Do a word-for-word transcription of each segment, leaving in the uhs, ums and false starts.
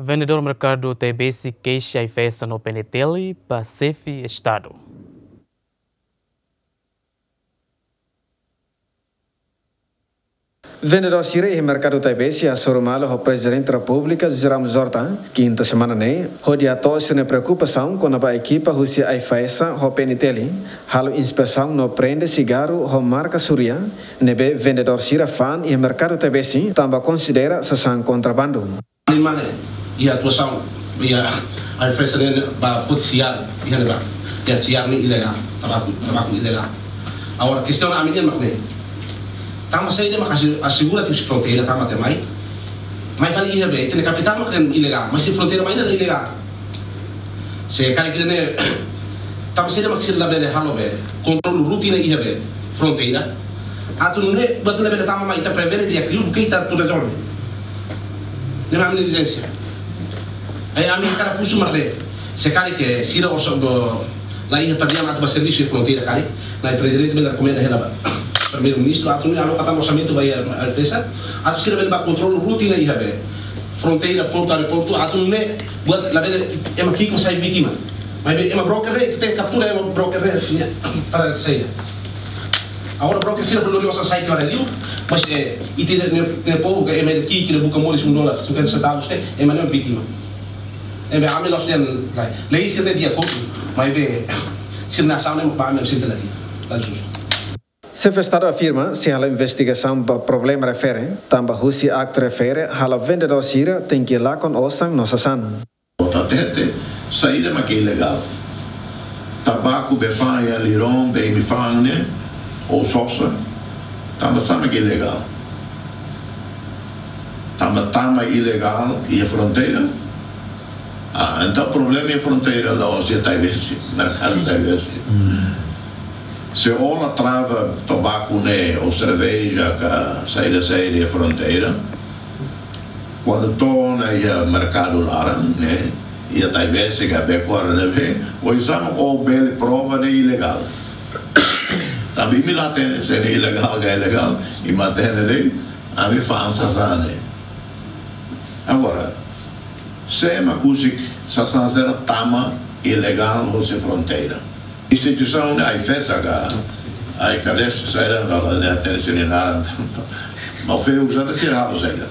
Vendedór merkadu Taibesi keixa AIFAESA no PNTL ba xefe Estadu. Vendedór sira iha merkadu Taibesi hasoru malu ho Prezidente Repúblika José Ramos Horta, kinta semana ne'e, hodi hato'o sira-nia preokupasaun kona-ba ekipa husi AIFAESA ho PNTL halo inspesaun no prende sigarru ho marka suria ne'ebé vendedór sira fa'an iha merkadu Taibesi, tanba konsidera sasán kontrabandu. Ani mane, iha atuasaun, iha AIFAESA ne'e ba foti siar, iha ne'ebá, iha siar ne'e ilegál, tabaku, tabaku ilegál. Agora, kestaun ami-nian mak ne'e. Tanba saida mak asi-, asegura tiha husi fronteira, tanba ita mai. Mai fali iha be, ita-nia kapitál mak ne'e ilegál, mas husi fronteira mai ne'e ilegál. Se karik ita-nia, tanba saida mak sira labele halo be, kontrolu rutina iha be, fronteira. Atu nune'e, buat labele tama mai ita prevene di'ak liu, buka ita atu rezolve. Ne'e mak ami-nia ezijénsia. Ai ami hakarak husu mak ne'e, se karik sira orsida la iha padiam atu ba servisu iha fronteira karik, Na'i Prezidente bele rekomenda hela ba Primeiru-Ministru atu nune'e aloka tan orsamentu ba iha AIFAESA, atu sira bele ba kontrolu rutina iha be fronteira, portu, aeroportu, atu nune'e buat labele ema ki'ik mak sai vítima. Maibé ema broker ne'e, ita kaptura ema broker ne'e, nia, para saida. Agora broker sira fali lori osan sai tiha ona liu, mas, eh, ita-nia, nia, nia povu ka ema ida ki'ik, ema buka moris un dólar, cinquenta centavos, eh, ema ne'e vítima. Ne'ebé ami la'ós dehan, lei sira ne'e di'ak, maibé sira-nia asaun ne'e ba ami sente la di'ak, la justu. Xefe Estadu afirma sei halo investigasaun ba problema refere, tanba husi aktu refere halo vendedór sira tenke lakon osan no sasán. Ita hatete, saida mak ilegál? Tabaku be fa'an iha liron, be imi fa'an ne'e, ou sosa, tanba sá mak ilegál? Tanba tama ilegál iha fronteira? Ah, entaun problema iha fronteira la'ós iha Taibesi, merkadu Taibesi. Se ó la trava tabaku ne'e, ou serveja, ka saida, saida iha fronteira, kuandu to'o ona iha merkadu laran, ne'e, iha Taibesi ka Becora ne'ebé, oinsá mak ó bele prova ne'e ilegál? Tanba imi la hatene se ne'e ilegál ka ilegál, imi hatene de'it, ami fa'an sasán ne'e. Agora, sé mak husik sasán sira tama ilegál hosi fronteira? Instituisaun ne'e AIFAESA ka, ai kades, saida, ka, ka, ne'e, terus ini laran. Maun Feu, saida sira halo saida?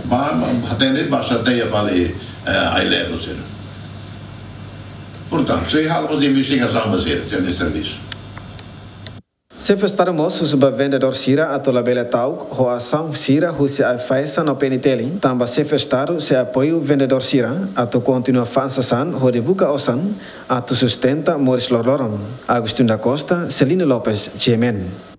Ba, ba, hatene ba sa te ya fali, eh, ai levo sira. Portantu, sei halo mós investigasaun ba sira, sira-nia servisu. Xefe Estadu mós husu ba vendedór sira atu labele ta'uk ho asaun sira husi AIFAESA no PNTL, tanba Xefe Estadu sei apoiu vendedór sira atu kontinua fa'an sasán hodi buka osan atu sustenta moris loroloron. Agostinho da Costa, Celino Lopes, GMN.